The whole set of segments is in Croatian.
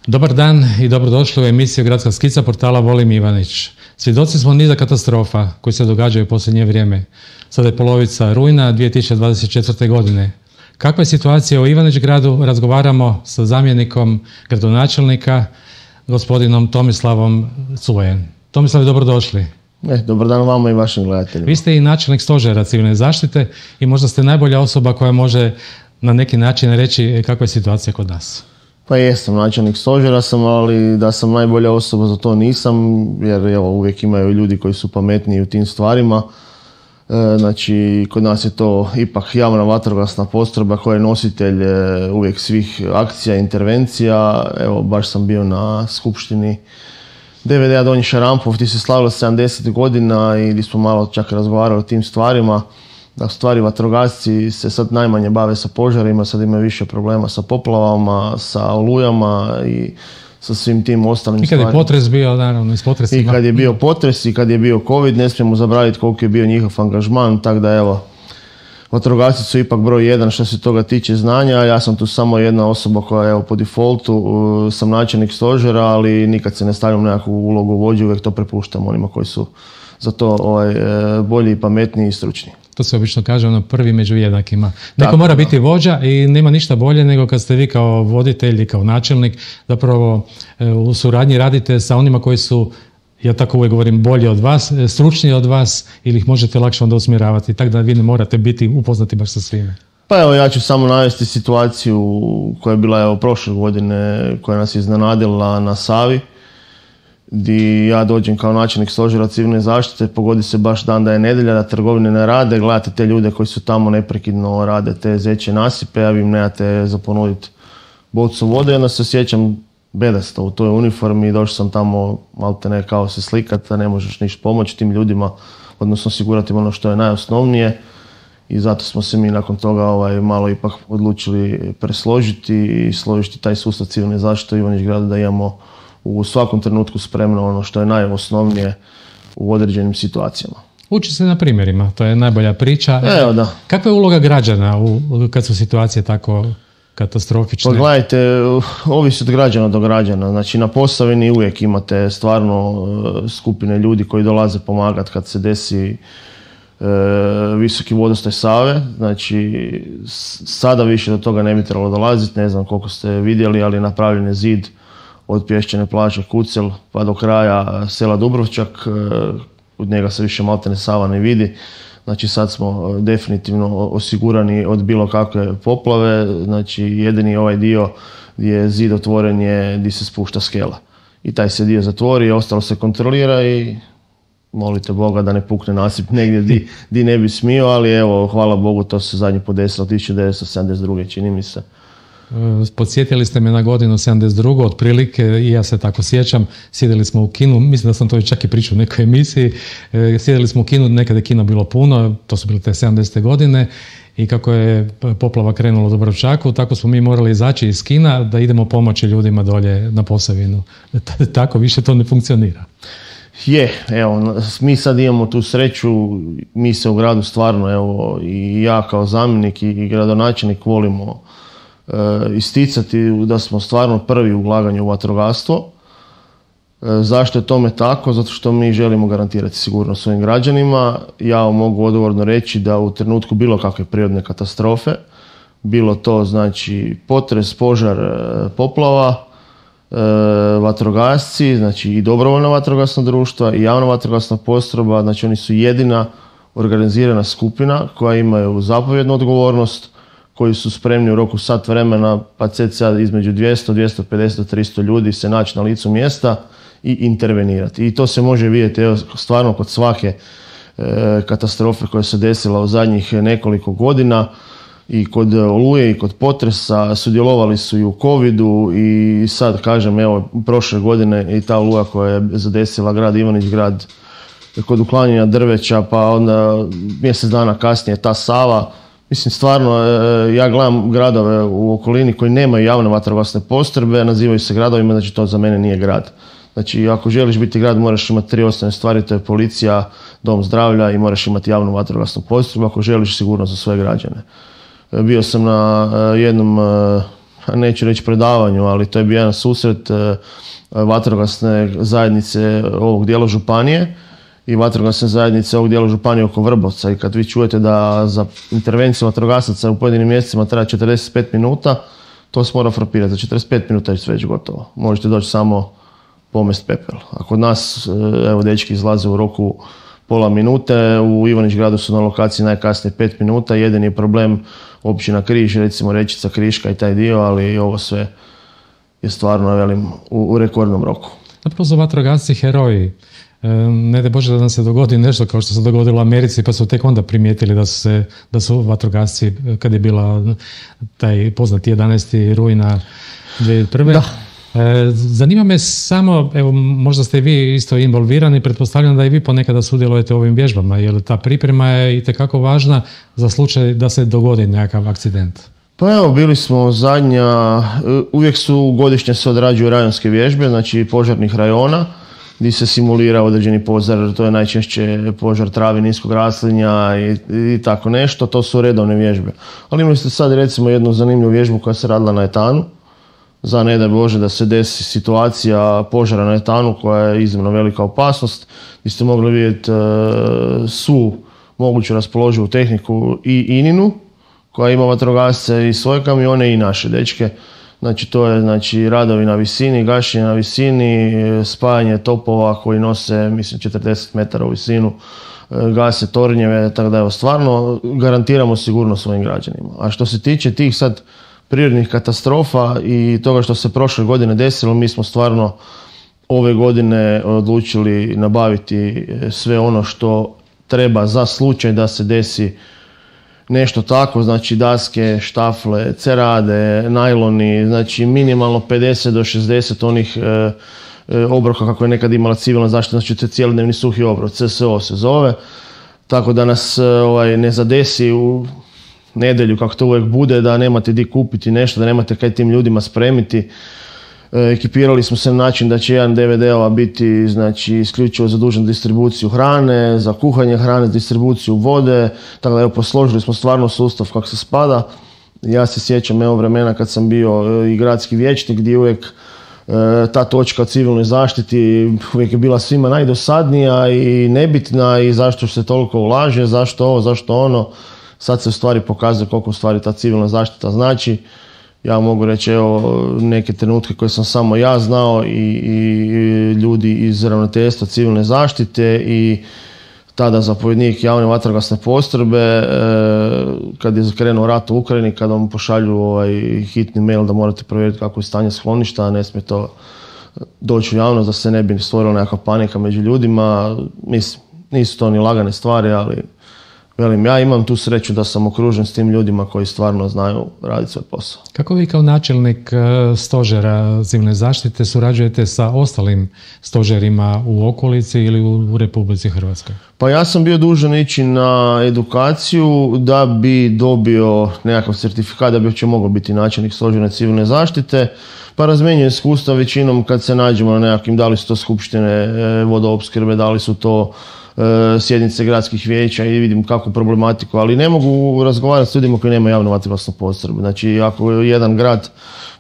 Dobar dan i dobrodošli u emisiju Gradska skica portala Volim Ivanić. Svjedoci smo niza katastrofa koji se događaju u posljednje vrijeme. Sada je polovica rujna 2024. godine. Kakva je situacija u Ivanić gradu? Razgovaramo sa zamjenikom gradonačelnika, gospodinom Tomislavom Culejem. Tomislav, dobrodošli. Dobar dan vama i vašim gledateljima. Vi ste i načelnik stožera civilne zaštite i možda ste najbolja osoba koja može na neki način reći kakva je situacija kod nas. Pa jesam, načelnik stožera sam, ali da sam najbolja osoba za to nisam, jer evo, uvijek imaju ljudi koji su pametniji u tim stvarima. Znači, kod nas je to ipak javna vatrogasna postrojba koja je nositelj uvijek svih akcija, intervencija. Evo, baš sam bio na skupštini DVD-a Donji Šarampov, gdje se slavilo 70 godina i gdje smo malo čak razgovarali o tim stvarima. Da u stvari vatrogasci se sad najmanje bave sa požarima, sad imaju više problema sa poplavama, sa olujama i sa svim tim ostalim stvarima. I kad je potres bio, naravno, i s potresima. I kad je bio potres i kad je bio COVID, ne smijemo zaboraviti koliko je bio njihov angažman, tako da evo, vatrogasci su ipak broj 1 što se toga tiče znanja. Ja sam tu samo jedna osoba koja evo po defaultu sam načelnik stožera, ali nikad se ne stavljam nekakvu ulogu vođe, uvijek to prepuštam onima koji su za to bolji, pametniji i stručni. To se obično kaže prvi među jednakima. Neko mora biti vođa i nema ništa bolje nego kad ste vi kao voditelj i kao načelnik zapravo u suradnji radite sa onima koji su, ja tako uvijek govorim, bolji od vas, stručniji od vas ili ih možete lakše onda usmjeravati, tako da vi ne morate biti upoznati baš sa svime. Pa evo, ja ću samo navesti situaciju koja je bila prošle godine, koja nas je iznenadila na Savi, gdje ja dođem kao načelnik stožera civilne zaštite, pogodi se baš dan da je nedjelja, da trgovine ne rade, gledate te ljude koji su tamo neprekidno rade te zečje nasipe, a vi im nemate za ponuditi bocu vode, onda se osjećam bedasto u toj uniformi i došao sam tamo maltene kao se slikati, da ne možeš ništa pomoći tim ljudima, odnosno osigurati ono što je najosnovnije i zato smo se mi nakon toga malo ipak odlučili presložiti i složiti taj sustav civilne zaštite u Ivanić gradu da imamo u svakom trenutku spremno ono što je najosnovnije u određenim situacijama. Uči se na primjerima, to je najbolja priča. Evo da. Kakva je uloga građana kad su situacije tako katastrofične? Pa gledajte, ovisi od građana do građana. Znači na Posavini uvijek imate stvarno skupine ljudi koji dolaze pomagati kad se desi visoki vodostaj Save. Znači sada više do toga ne bi trebalo dolaziti, ne znam koliko ste vidjeli, ali napravljen je zid od pješčane plaže Kucel pa do kraja sela Dubrovčak, od njega se više maltene Sava ne vidi. Znači sad smo definitivno osigurani od bilo kakve poplave, znači jedini ovaj dio gdje je zid otvoren je gdje se spušta skela. I taj se dio zatvori, ostalo se kontrolira i molite Boga da ne pukne nasip negdje di ne bi smio, ali evo, hvala Bogu, to se zadnji podesilo 1972. čini mi se. Podsjetili ste me na godinu 72. otprilike i ja se tako sjećam. Sjedili smo u kinu, mislim da sam to čak i pričao u nekoj emisiji, sjedili smo u kinu, nekada je kino bilo puno, to su bile te 70. godine i kako je poplava krenula u Dubrovčaku, tako smo mi morali izaći iz kina da idemo pomoći ljudima dolje na Posavinu. Tako više to ne funkcionira. Evo, mi sad imamo tu sreću, mi se u gradu stvarno, evo, i ja kao zamjenik i gradonačelnik volimo isticati da smo stvarno prvi u ulaganju u vatrogastvo. Zašto je tome tako? Zato što mi želimo garantirati sigurnost svojim građanima. Ja mogu odgovorno reći da u trenutku bilo kakve prirodne katastrofe, bilo to znači potres, požar, poplava, vatrogasci, znači i dobrovoljna vatrogasna društva i javna vatrogasna postrojba, znači oni su jedina organizirana skupina koja imaju zapovjednu odgovornost, koji su spremni u roku sat vremena, pa cca između 200, 250, 300 ljudi se naći na licu mjesta i intervenirati. I to se može vidjeti stvarno kod svake katastrofe koja se desila u zadnjih nekoliko godina i kod oluje i kod potresa, sudjelovali su i u covidu i sad kažem, evo, prošle godine i ta oluja koja je zadesila grad Ivanić grad kod uklanjanja drveća, pa onda mjesec dana kasnije ta Sava. Mislim, stvarno, ja gledam gradove u okolini koji nemaju javne vatrogasne postrojbe, nazivaju se gradovima, znači to za mene nije grad. Znači, ako želiš biti grad, moraš imati 3 osnovne stvari, to je policija, dom zdravlja i moraš imati javnu vatrogasnu postrojbu ako želiš sigurnost za svoje građane. Bio sam na jednom, neću reći predavanju, ali to je bio jedan susret vatrogasne zajednice ovog dijela županije i vatrogasne zajednice ovog dijela županije oko Vrbovca. I kad vi čujete da za intervenciju vatrogasaca u pojedinim mjesecima traje 45 minuta, to se mora frapirati. Za 45 minuta je sve već gotovo. Možete doći samo pomest pepel. A kod nas, evo, dečki izlaze u roku pola minute, u Ivanić-gradu su na lokaciji najkasnije 5 minuta. Jedini je problem općina Križ, recimo Rečica, Kriška i taj dio, ali ovo sve je stvarno, velim, u rekordnom roku. Zapravo su vatrogasci heroji. Ne daj Bože da nam se dogodi nešto kao što se dogodilo u Americi, pa su tek onda primijetili da su vatrogasci, kad je bila taj poznati 11. rujna 2001. Da. Zanima me samo, evo, možda ste vi isto involvirani, pretpostavljam da i vi ponekada sudjelujete u ovim vježbama, jer ta priprema je itekako važna za slučaj da se dogodi nekakav akcident. Pa evo, bili smo zadnja, uvijek su godišnje se odrađuju rajonske vježbe, znači požarnih rajona, gdje se simulira određeni požar, to je najčešće požar travi, niskog raslinja i tako nešto, to su redovne vježbe. Ali imali ste sad recimo jednu zanimljivu vježbu koja se radila na etanu, za ne daj Bože da se desi situacija požara na etanu koja je iznimno velika opasnost, gdje ste mogli vidjeti svu moguću raspoloživu tehniku i ININU, koja ima vatrogasce i svoje kamione i naše dečke. Znači to je radovi na visini, gašenje na visini, spajanje topova koji nose, mislim, 40 metara u visinu, gase tornjeve, tako da evo, stvarno garantiramo sigurnost svojim građanima. A što se tiče tih sad prirodnih katastrofa i toga što se prošle godine desilo, mi smo stvarno ove godine odlučili nabaviti sve ono što treba za slučaj da se desi nešto tako, znači daske, štafle, cerade, najloni, znači minimalno 50 do 60 onih obroka kako je nekad imala civilna zaštita, znači to je cijelodnevni suhi obrok, CSO se zove, tako da nas ne zadesi u nedjelju, kako to uvijek bude, da nemate di kupiti nešto, da nemate kaj tim ljudima spremiti. Ekipirali smo se na način da će jedan DVD-ova biti, znači, isključivo zadužen za distribuciju hrane, za kuhanje hrane, distribuciju vode, tako da evo, posložili smo stvarno sustav kako se spada. Ja se sjećam evo vremena kad sam bio i gradski vijećnik, gdje uvijek ta točka o civilnoj zaštiti uvijek je bila svima najdosadnija i nebitna i zašto se toliko ulaže, zašto ovo, zašto ono. Sad se u stvari pokazuje koliko u stvari ta civilna zaštita znači. Ja mogu reći, evo, neke trenutke koje sam samo ja znao i ljudi iz ravnateljstva civilne zaštite i tada zapovjednik javne vatrogasne postrojbe, kad je krenuo rat u Ukrajini, kada vam pošalju hitni mail da morate provjeriti kako je stanje skloništa, a ne smije to doći u javnost da se ne bi stvorila nekakva panika među ljudima. Mislim, nisu to ni lagane stvari, ali velim, ja imam tu sreću da sam okružen s tim ljudima koji stvarno znaju raditi svoj posao. Kako vi kao načelnik stožera civilne zaštite surađujete sa ostalim stožerima u okolici ili u Republici Hrvatskoj? Pa ja sam bio dužan ići na edukaciju da bi dobio nekakav certifikat da bi uopće mogao biti načelnik stožera civilne zaštite. Pa razmjenjujem iskustva većinom kad se nađemo na nekakvim, da li su to skupštine vodoopskrbe, da li su to sjednice gradskih vijeća i vidim kakvu problematiku, ali ne mogu razgovarati s ljudima koji nemaju javnu vatrogasnu postrojbu. Znači, ako jedan grad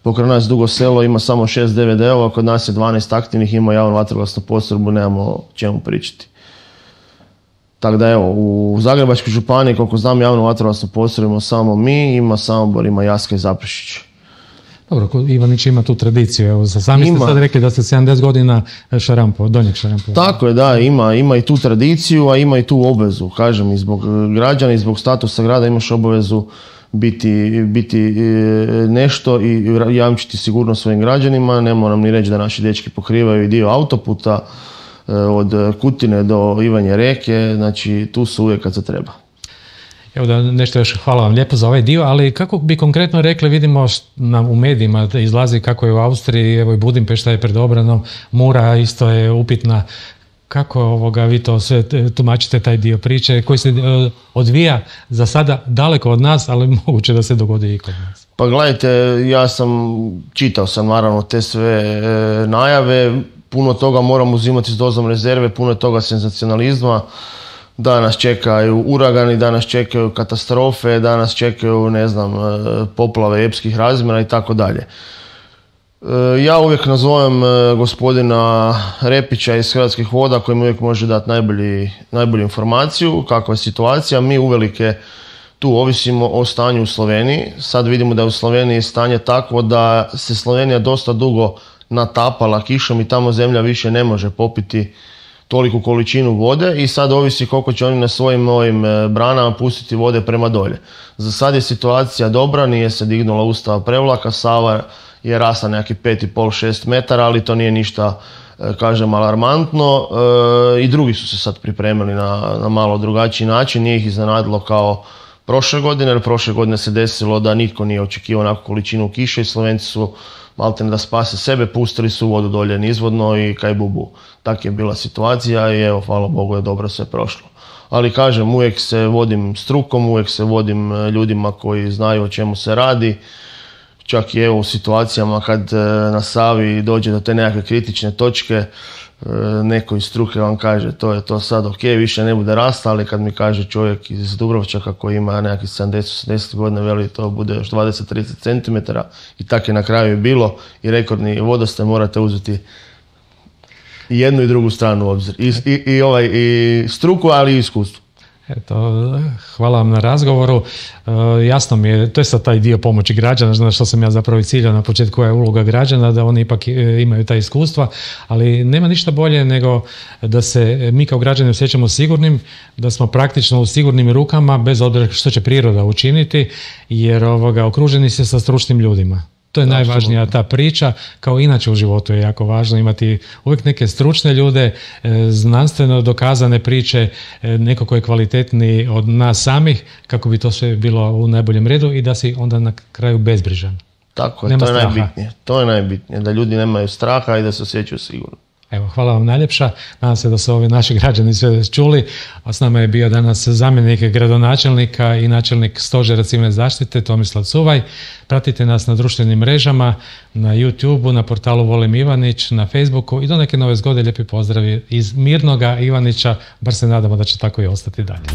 pokraj nas Dugo Selo ima samo 6 DVD-ova, kod nas je 12 aktivnih, ima javnu vatrogasnu postrojbu, nemamo čemu pričati. Tako da evo, u Zagrebačkoj županiji, koliko znam, javnu vatrogasnu postrojbu imamo samo mi, ima Samobor, ima Jaska i Zaprešić. Dobro, Ivanić ima tu tradiciju, evo, sami ste sad rekli da ste 70 godina Donjeg Šarampova. Tako je, da, ima i tu tradiciju, a ima i tu obvezu, kažem, i zbog građana i zbog statusa grada imaš obavezu biti nešto i jamčiti sigurnost svojim građanima. Ne moram ni reći da naši dečki pokrivaju i dio autoputa od Kutine do Ivanje Reke, znači tu su uvijek kad se treba. Evo da nešto još, hvala vam lijepo za ovaj dio, ali kako bi konkretno rekli, vidimo u medijima izlazi kako je u Austriji, evo i Budimpešta je pred obranom, Mura isto je upitna. Kako vi to sve tumačite, taj dio priče koji se odvija za sada daleko od nas, ali moguće da se dogodi i kod nas? Pa gledajte, čitao sam naravno te sve najave, puno toga moramo uzimati s dozom rezerve, puno toga senzacionalizma. Da nas čekaju uragani, da nas čekaju katastrofe, da nas čekaju, ne znam, poplave epskih razmjera i tako dalje. Ja uvijek nazovem gospodina Repića iz Hrvatskih voda koji mi uvijek može dati najbolju informaciju kakva je situacija. Mi uvelike tu ovisimo o stanju u Sloveniji. Sad vidimo da je u Sloveniji stanje takvo da se Slovenija dosta dugo natapala kišom i tamo zemlja više ne može popiti toliku količinu vode i sad ovisi koliko će oni na svojim ovim branama pustiti vode prema dolje. Za sad je situacija dobra, nije se dignula ustava prevlaka, Sava je rasla nekakvih 5,5-6 metara, ali to nije ništa, kažem, alarmantno. I drugi su se sad pripremili na malo drugačiji način, nije ih iznenadilo kao prošle godine, jer prošle godine se desilo da nitko nije očekivao onakvu količinu kiše i Slovenci su maltene da spase sebe, pustili su vodu dolje nizvodno i kaj bubu. Tak je bila situacija i evo, hvala Bogu je dobro sve prošlo. Ali kažem, uvijek se vodim strukom, uvijek se vodim ljudima koji znaju o čemu se radi. Čak i evo u situacijama kad na Savi dođe do te nekakve kritične točke, neko iz struke vam kaže to je to sad ok, više ne bude rasta, ali kad mi kaže čovjek iz Dubrovčaka koji ima nekakvih 70-80 godina, veli to bude još 20-30 cm i tak je na kraju i bilo i rekordni vodostaj, morate uzeti jednu i drugu stranu u obzir. I struku, ali i iskustvo. Eto, hvala vam na razgovoru. Jasno mi je, to je sad taj dio pomoći građana, znači što sam ja zapravo i ciljao na početku, koja je uloga građana, da oni ipak imaju ta iskustva, ali nema ništa bolje nego da se mi kao građani osjećamo sigurnim, da smo praktično u sigurnim rukama, bez obzira što će priroda učiniti, jer okruženi se sa stručnim ljudima. To je najvažnija ta priča, kao inače u životu je jako važno imati uvijek neke stručne ljude, znanstveno dokazane priče, neko ko je kvalitetniji od nas samih, kako bi to sve bilo u najboljem redu i da si onda na kraju bezbrižan. Tako je, to je najbitnije. To je najbitnije, da ljudi nemaju straha i da se osjećaju sigurno. Evo, hvala vam najljepša. Nadam se da su ovi naši građani sve čuli. A s nama je bio danas zamjenik gradonačelnika i načelnik Stožera civilne zaštite Tomislav Cuvaj. Pratite nas na društvenim mrežama, na YouTubeu, na portalu Volim Ivanić, na Facebooku i do neke nove zgode lijepi pozdravi iz mirnoga Ivanića, bar se nadamo da će tako i ostati dalje.